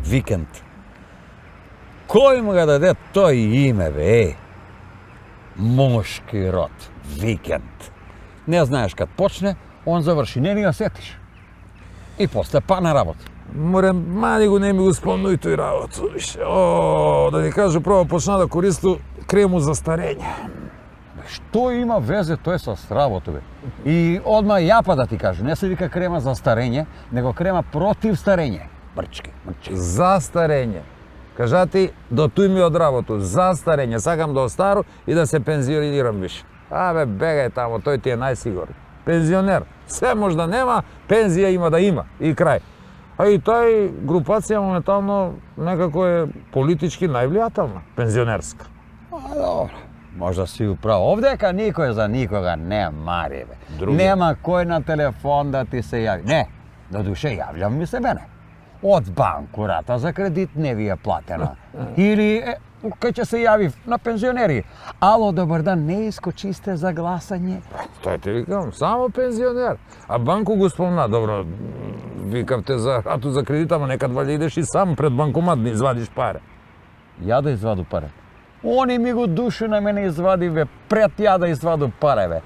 Викенд. Кој му ga даде тој име, бе? Мошки род. Викенд. Не знаеш кад почне, он заврши. Не ни го сетиш. И после па на работа. Море, мани го не ми го спомнуј тој работа. О, да ти кажу, прво почна да користу крему за старење. Што има везе тој со работа, бе? И одма јапа да ти кажу, не се вика крема за старење, него крема против старење. Мрчки. За старење. Кажати, до туј ми од работу, за старење, сакам да остару и да се пензионирам више. Абе, бегај тамо, тој ти е најсигурен. Пензионер, се може да нема, пензија има да има, и крај. А и тај групација моментално некако е политички највлијателна, пензионерска. А, добро. Можда си управо. Овдека никој за никога не мари, бе. Други. Нема кој на телефон да ти се јави. Не, до душе јавljam ми се мене. Од банку рата за кредит не ви е платена. Или кај ќе се јави на пензионери. Ало, добар дан, не искочисте за гласање. Тој те викам, само пензионер. А банку го спомна, добро, викавте за рату за кредит, ама некад валја идеш и сам пред банкомат да извадиш пари. Ја да изваду пари. Они ми го душу на мене извади, бе, пред ја да изваду пари, бе.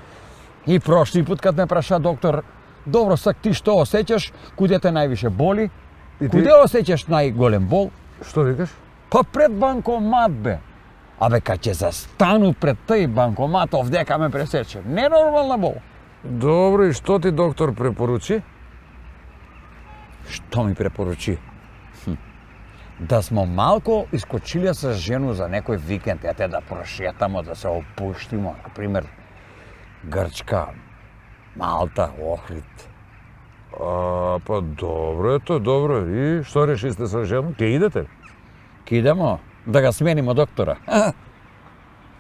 И прошли пут кад ме праша доктор, добро, сак ти што осеќаш, куде те највише боли? Куде осеќаш најголем бол? Што викаш? Па пред банкомат, бе. Абе, кај ќе застану пред тој банкомат, овдека ме пресече. Ненормална бол. Добро, и што ти доктор препоручи? Што ми препоручи? Да смо малко искочиле со жену за некој викенд, ете да прошетамо, да се опуштимо, например, Грчка, Малта, Охрид. А, па добро, ето, добро. И што решисте со жена? Ке идете? Ке идемо да ga сменимо доктора.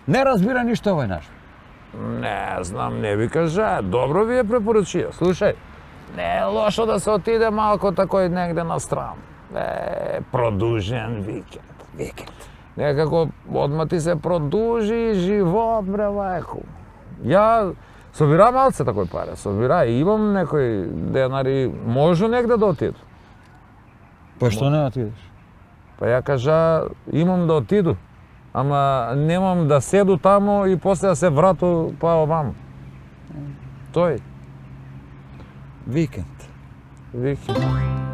Не разбира ништо овој наш. Не знам, не ви кажа. Добро ви е препоручија. Слушај, не е лошо да се отиде малко такој негде на страна. Продужен викенд. Викенд. Некако одма ти се продужи живот, бре, лајко. Ја собира малце такој паре, собира и имам некој денари, можу негде да отиду. Па што не отидеш? Па ја кажа, имам да отиду, ама немам да седу тамо и после да се врату па оваму. Тој. Викенд. Викенд.